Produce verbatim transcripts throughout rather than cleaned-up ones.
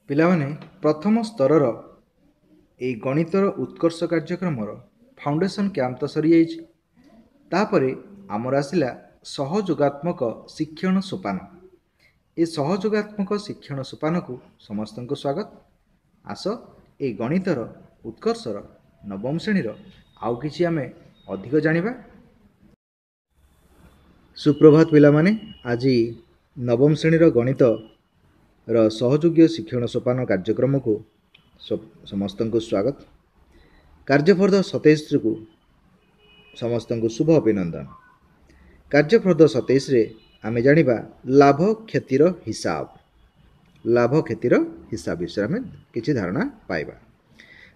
ପିଲାମାନେ ପ୍ରଥମ ସ୍ତରର ଏଇ ଗଣିତର ଉତ୍କର୍ଷ କାର୍ଯ୍ୟକ୍ରମର ଫାଉଣ୍ଡେସନ୍ କ୍ୟାମ୍ପ ତ ସରିଯାଇଛି ତାପରେ ଆମର ଆସିଲା ସହଯୋଗାତ୍ମକ ଶିକ୍ଷଣ ସୋପାନ ଏ ସହଯୋଗାତ୍ମକ ଶିକ୍ଷଣ ସୋପାନକୁ ସମସ୍ତଙ୍କୁ ସ୍ୱାଗତ ଆସ ଏଇ ଗଣିତର ଉତ୍କର୍ଷର ନବମ ଶ୍ରେଣୀର ଆଉ କିଛି ଆମେ ଅଧିକ ଜାଣିବା ସୁପ୍ରଭାତ ପିଲାମାନେ ଆଜି ନବମ ଶ୍ରେଣୀର ଗଣିତର ସହଯୋଗୀୟ ଶିକ୍ଷଣ ସୋପାନ କାର୍ଯ୍ୟକ୍ରମକୁ ସମସ୍ତଙ୍କୁ ସ୍ୱାଗତ କାର୍ଯ୍ୟଫର୍ଦ୍ଦ ସତେଇଶକୁ ସମସ୍ତଙ୍କୁ ଶୁଭ ଅଭିନନ୍ଦନ କାର୍ଯ୍ୟଫର୍ଦ୍ଦ ସତେଇଶରେ ଆମେ ଜାଣିବା ଲାଭ କ୍ଷତିର ହିସାବ ଲାଭ କ୍ଷତିର ହିସାବ ବିଷୟରେ ଆମେ କିଛି ଧାରଣା ପାଇବା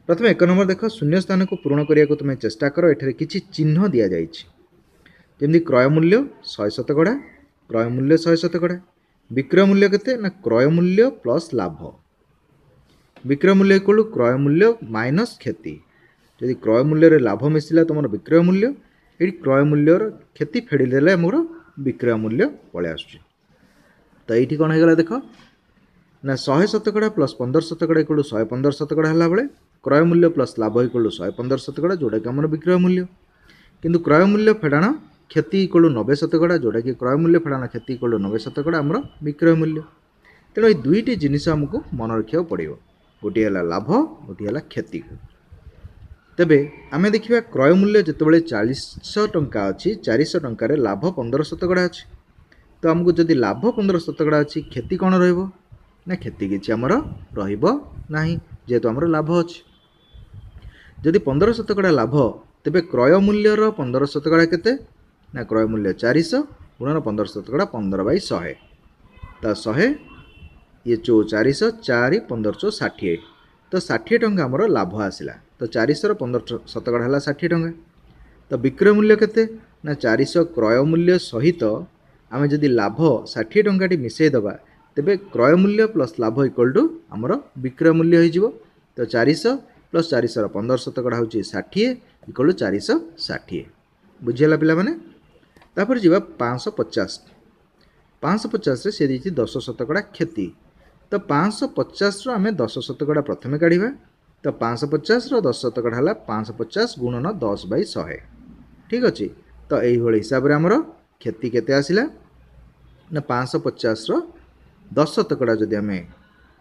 ପ୍ରଥମେ ଏକ ନମ୍ବର ଦେଖ ଶୂନ୍ୟ ସ୍ଥାନକୁ ପୂରଣ କରିବାକୁ ତୁମେ ଚେଷ୍ଟା କର ଏଠାରେ କିଛି ଚିହ୍ନ ଦିଆଯାଇଛି ଯେମିତି କ୍ରୟ ମୂଲ୍ୟ ଶହେ ଶତକଡ଼ା କ୍ରୟ ମୂଲ୍ୟ ଶହେ ଶତକଡ଼ା ବିକ୍ରୟ ମୂଲ୍ୟ କେତେ ନା କ୍ରୟ ମୂଲ୍ୟ ପ୍ଲସ୍ ଲାଭ ବିକ୍ରୟ ମୂଲ୍ୟ ଇକ୍ୱାଲ୍ କ୍ରୟ ମୂଲ୍ୟ ମାଇନସ୍ କ୍ଷତି ଯଦି କ୍ରୟ ମୂଲ୍ୟରେ ଲାଭ ମିଶିଲା ତୁମର ବିକ୍ରୟ ମୂଲ୍ୟ ଏଠି କ୍ରୟ ମୂଲ୍ୟର କ୍ଷତି ଫେଡ଼ିଦେଲେ ଆମର ବିକ୍ରୟ ମୂଲ୍ୟ ପଳେଇ ଆସୁଛି ତ ଏଇଠି କ'ଣ ହେଇଗଲା ଦେଖ ନା ଶହେ ଶତକଡ଼ା ପ୍ଲସ୍ ପନ୍ଦର ଶତକଡ଼ା ଇକ୍ୱାଲ୍ ଶହେ ପନ୍ଦର ଶତକଡ଼ା ହେଲା ବେଳେ କ୍ରୟ ମୂଲ୍ୟ ପ୍ଲସ୍ ଲାଭ ଇକ୍ୱାଲ୍ ଶହେ ପନ୍ଦର ଶତକଡ଼ା ଯେଉଁଟାକି ଆମର ବିକ୍ରୟ ମୂଲ୍ୟ କିନ୍ତୁ କ୍ରୟ ମୂଲ୍ୟ ଫେଡ଼ାଣ କ୍ଷତି ଇକ୍ୱାଲ୍ ନବେ ଶତକଡ଼ା ଯେଉଁଟାକି କ୍ରୟ ମୂଲ୍ୟ ଫେଡ଼ାଣ କ୍ଷତି ଇକ୍ୱାଲ୍ ନବେ ଶତକଡ଼ା ଆମର ବିକ୍ରୟ ମୂଲ୍ୟ ତେଣୁ ଏଇ ଦୁଇଟି ଜିନିଷ ଆମକୁ ମନେ ରଖିବାକୁ ପଡ଼ିବ ଗୋଟିଏ ହେଲା ଲାଭ ଗୋଟିଏ ହେଲା କ୍ଷତି ତେବେ ଆମେ ଦେଖିବା କ୍ରୟ ମୂଲ୍ୟ ଯେତେବେଳେ ଚାଳିଶଶହ ଟଙ୍କା ଅଛି ଚାରିଶହ ଟଙ୍କାରେ ଲାଭ ପନ୍ଦର ଶତକଡ଼ା ଅଛି ତ ଆମକୁ ଯଦି ଲାଭ ପନ୍ଦର ଶତକଡ଼ା ଅଛି କ୍ଷତି କ'ଣ ରହିବ ନା କ୍ଷତି କିଛି ଆମର ରହିବ ନାହିଁ ଯେହେତୁ ଆମର ଲାଭ ଅଛି ଯଦି ପନ୍ଦର ଶତକଡ଼ା ଲାଭ ତେବେ କ୍ରୟ ମୂଲ୍ୟର ପନ୍ଦର ଶତକଡ଼ା କେତେ ନା କ୍ରୟ ମୂଲ୍ୟ ଚାରିଶହ ଗୁଣନ ପନ୍ଦର ଶତକଡ଼ା ପନ୍ଦର ବାଇ ଶହେ ତ ଶହେ ଇଏ ଚଉ ଚାରିଶହ ଚାରି ପନ୍ଦର ଚଉ ଷାଠିଏ ତ ଷାଠିଏ ଟଙ୍କା ଆମର ଲାଭ ଆସିଲା ତ ଚାରିଶହର ପନ୍ଦର ଶତକଡ଼ା ହେଲା ଷାଠିଏ ଟଙ୍କା ତ ବିକ୍ରୟ ମୂଲ୍ୟ କେତେ ନା ଚାରିଶହ କ୍ରୟ ମୂଲ୍ୟ ସହିତ ଆମେ ଯଦି ଲାଭ ଷାଠିଏ ଟଙ୍କାଟି ମିଶାଇ ଦେବା ତେବେ କ୍ରୟ ମୂଲ୍ୟ ପ୍ଲସ୍ ଲାଭ ଇକ୍ୱାଲ୍ ଟୁ ଆମର ବିକ୍ରୟ ମୂଲ୍ୟ ହେଇଯିବ ତ ଚାରିଶହ ପ୍ଲସ୍ ଚାରିଶହର ପନ୍ଦର ଶତକଡ଼ା ହେଉଛି ଷାଠିଏ ଇକ୍ୱାଲ୍ ଟୁ ଚାରିଶହ ଷାଠିଏ ବୁଝିହେଲା ପିଲାମାନେ ତାପରେ ଯିବା ପାଞ୍ଚଶହ ପଚାଶ ପାଞ୍ଚଶହ ପଚାଶରେ ସେ ଦେଇଛି ଦଶ ଶତକଡ଼ା କ୍ଷତି ତ ପାଞ୍ଚଶହ ପଚାଶର ଆମେ ଦଶ ଶତକଡ଼ା ପ୍ରଥମେ କାଢ଼ିବା ତ ପାଞ୍ଚଶହ ପଚାଶର ଦଶ ଶତକଡ଼ା ହେଲା ପାଞ୍ଚଶହ ପଚାଶ ଗୁଣନ ଦଶ ବାଇ ଶହେ ଠିକ୍ ଅଛି ତ ଏଇଭଳି ହିସାବରେ ଆମର କ୍ଷତି କେତେ ଆସିଲା ନା ପାଞ୍ଚଶହ ପଚାଶର ଦଶ ଶତକଡ଼ା ଯଦି ଆମେ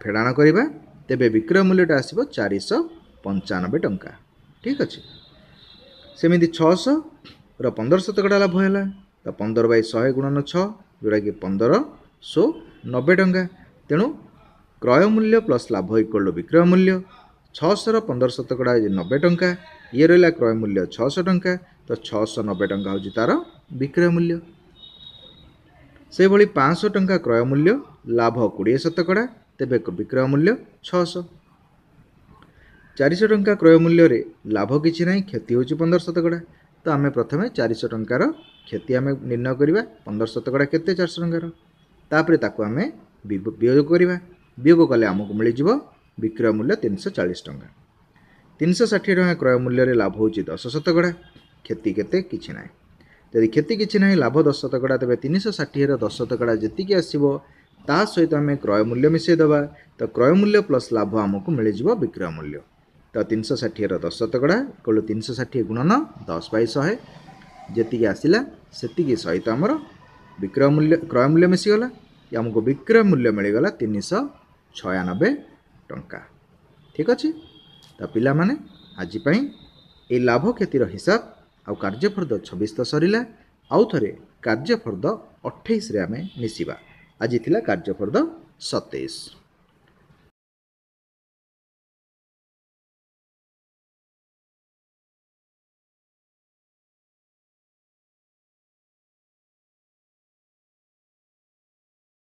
ଫେଡ଼ାଣ କରିବା ତେବେ ବିକ୍ରୟ ମୂଲ୍ୟଟା ଆସିବ ଚାରିଶହ ପଞ୍ଚାନବେ ଟଙ୍କା ଠିକ୍ ଅଛି ସେମିତି ଛଅଶହର ପନ୍ଦର ଶତକଡ଼ା ଲାଭ ହେଲା ତ ପନ୍ଦର ବାଇ ଶହେ ଗୁଣନ ଛଅ ଯେଉଁଟାକି ପନ୍ଦରଶହ ନବେ ଟଙ୍କା ତେଣୁ କ୍ରୟ ମୂଲ୍ୟ ପ୍ଲସ୍ ଲାଭ ଇକ୍ୱାଲ୍ ଟୁ ବିକ୍ରୟ ମୂଲ୍ୟ ଛଅଶହର ପନ୍ଦର ଶତକଡ଼ା ନବେ ଟଙ୍କା ଇଏ ରହିଲା କ୍ରୟ ମୂଲ୍ୟ ଛଅଶହ ଟଙ୍କା ତ ଛଅଶହ ନବେ ଟଙ୍କା ହେଉଛି ତା'ର ବିକ୍ରୟ ମୂଲ୍ୟ ସେହିଭଳି ପାଞ୍ଚଶହ ଟଙ୍କା କ୍ରୟ ମୂଲ୍ୟ ଲାଭ କୋଡ଼ିଏ ଶତକଡ଼ା ତେବେ ବିକ୍ରୟ ମୂଲ୍ୟ ଛଅଶହ ଚାରିଶହ ଟଙ୍କା କ୍ରୟ ମୂଲ୍ୟରେ ଲାଭ କିଛି ନାହିଁ କ୍ଷତି ହେଉଛି ପନ୍ଦର ଶତକଡ଼ା ତ ଆମେ ପ୍ରଥମେ ଚାରିଶହ ଟଙ୍କାର କ୍ଷତି ଆମେ ନିର୍ଣ୍ଣୟ କରିବା ପନ୍ଦର ଶତକଡ଼ା କେତେ ଚାରିଶହ ଟଙ୍କାର ତାପରେ ତାକୁ ଆମେ ବିୟୋଗ କରିବା ବିୟୋଗ କଲେ ଆମକୁ ମିଳିଯିବ ବିକ୍ରୟ ମୂଲ୍ୟ ତିନିଶହ ଚାଳିଶ ଟଙ୍କା ତିନିଶହ ଷାଠିଏ ଟଙ୍କା କ୍ରୟ ମୂଲ୍ୟରେ ଲାଭ ହେଉଛି ଦଶ ଶତକଡ଼ା କ୍ଷତି କେତେ କିଛି ନାହିଁ ଯଦି କ୍ଷତି କିଛି ନାହିଁ ଲାଭ ଦଶ ଶତକଡ଼ା ତେବେ ତିନିଶହ ଷାଠିଏର ଦଶ ଶତକଡ଼ା ଯେତିକି ଆସିବ ତା ସହିତ ଆମେ କ୍ରୟ ମୂଲ୍ୟ ମିଶାଇ ଦେବା ତ କ୍ରୟ ମୂଲ୍ୟ ପ୍ଲସ୍ ଲାଭ ଆମକୁ ମିଳିଯିବ ବିକ୍ରୟ ମୂଲ୍ୟ ତ ତିନିଶହ ଷାଠିଏର ଦଶ ଶତକଡ଼ା ଇକ୍ୱାଲ୍ ତିନିଶହ ଷାଠିଏ ଗୁଣନ ଦଶ ବାଇ ଶହେ ଯେତିକି ଆସିଲା ସେତିକି ସହିତ ଆମର ବିକ୍ରୟ ମୂଲ୍ୟ କ୍ରୟ ମୂଲ୍ୟ ମିଶିଗଲା ଆମକୁ ବିକ୍ରୟ ମୂଲ୍ୟ ମିଳିଗଲା ତିନିଶହ ଛୟାନବେ ଟଙ୍କା ଠିକ୍ ଅଛି ତ ପିଲାମାନେ ଆଜି ପାଇଁ ଏଇ ଲାଭ କ୍ଷତିର ହିସାବ ଆଉ କାର୍ଯ୍ୟଫର୍ଦ୍ଦ ଛବିଶ ତ ସରିଲା ଆଉ ଥରେ କାର୍ଯ୍ୟଫର୍ଦ୍ଦ ଅଠେଇଶରେ ଆମେ ମିଶିବା ଆଜି ଥିଲା କାର୍ଯ୍ୟଫର୍ଦ୍ଦ ସତେଇଶ